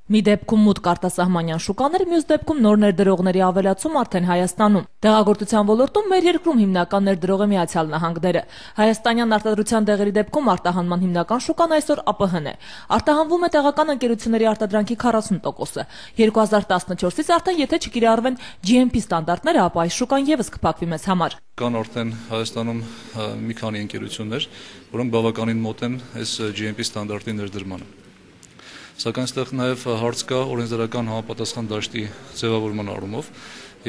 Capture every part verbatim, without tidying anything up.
Մի դեպքում մուտք արտասահմանյան շուկաներ, մյուս դեպքում նոր ներդրողների ավելացում արդեն Հայաստանում։ Դեղագործության ոլորտում մեր երկրում հիմնական ներդրող է Միացյալ Նահանգները։ Հայաստանյան արտադրության դեղերի դեպքում արտահանման հիմնական շուկան այսօր ԱՊՀ-ն է։ Արտահանվում է տեղական ընկերությունների արտադրանքի քառասուն տոկոսը։ երկու հազար տասնչորսից արդեն եթե չկիրառվեն G M P ստանդարտները, ապա այս շուկան եւս կփակվի մեզ համար։ Կան արդեն Հայաստանում մի քանի ընկերություններ, որոնք բավականին մոտ են այս G M P ստանդարտի ներդրմանը։ Սակայն այստեղ նաև հարց կա օրենսդրական համապատասխան դաշտի ձևավորման առումով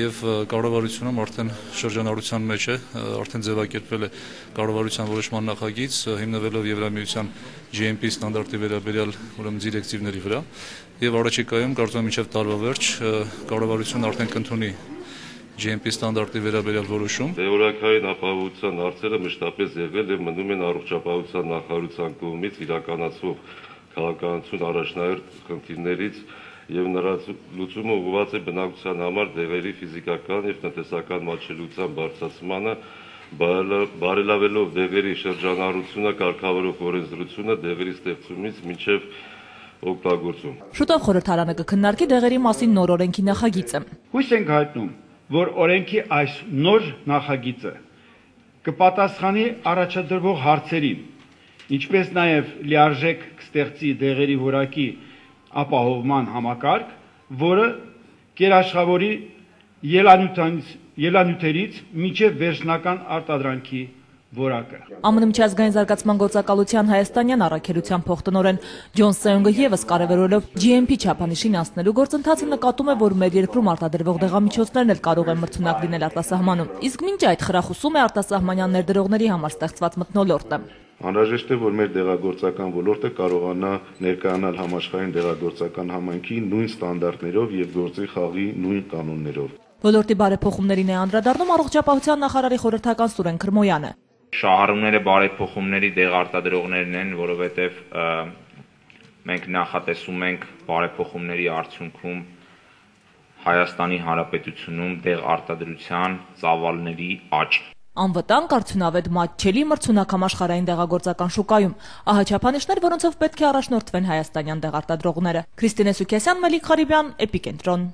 եւ կառավարությունում արդեն շրջանառության մեջ է, արդեն ձևակերպվել է կառավարության որոշման նախագիծ, հիմնվելով Եվրամիության G M P ստանդարտի վերաբերյալ ուրեմն դիրեկտիվների վրա եւ առաջիկայում կարծում եմ մինչեւ տարվա վերջ կառավարությունն արդեն կընդունի G M P ստանդարտի վերաբերյալ որոշում։ Դեղորայքային ապահովության հարցերը մշտապես եղել եւ մնում են առողջապահության նախարարության կողմից իրականացվող քաղաքականություն առաջնահերթ խնդիրներից եւ նրա լուծումը ուղղված է բնակության համար դեղերի ֆիզիկական եւ տնտեսական մատչելիության բարձրացմանը, բարելավելով դեղերի շրջանառությունը, կարգավորող օրենսդրությունը դեղերի ստեղծումից մինչեւ օգտագործում։ Շուտով խորհրդարանը կքննարկի դեղերի մասին նոր օրենքի նախագիծը։ Հույս ենք հայտնում, որ օրենքի այս նոր նախագիծը կպատասխանի առաջադրվող հարցերին, ինչպես նաև լիարժեք կստեղծի դեղերի որակի ապահովման համակարգ, որը կերաշխավորի ելանյութերից մինչև վերջնական արտադրանքի որակը։ Ամն միջազգային զարգացման գործակալության հայաստանյան առաքելության փոխտնօրեն Ջոն Սեյոնգը եւս կարևորելով G M P չափանիշին անցնելու գործընթացը նկատում է, որ մեր երկրում արտադրվող դեղամիջոցներն էլ կարող են մրցունակ լինել արտասահմանում։ Իսկ մինչ այդ խրախուսում է արտասահմանյան ներդրողների համար ստեղծված մթնոլորտը։ Անհրաժեշտ է, որ մեր դեղագործական ոլորտը կարողանա ներկայանալ համաշխարհային դեղագործական համայնքի նույն ստանդարտներով եւ գործի խաղի նույն կանոններով։ Ոլորտի բարեփոխումներին է անդրադառնում առողջապահության նախարարի խորհրդական Սուրեն Քրմոյանը։ Շահառուները բարեփոխումների դեղ արտադրողներն են, որովհետեւ մենք նախատեսում ենք բարեփոխումների արդյունքում Հայաստանի Հանրապետությունում դեղ արտադրության ծավալների աճ։ Անվտանգ, արդյունավետ, մատչելի մրցունակ համաշխարհային դեղագործական շուկայում։ Ահա չափանիշներ, որոնցով պետք է առաջնորդվեն հայաստանյան դեղարտադրողները։ Քրիստինե Սուքիասյան, Մելիք Ղարիբյան, Էպիկենտրոն։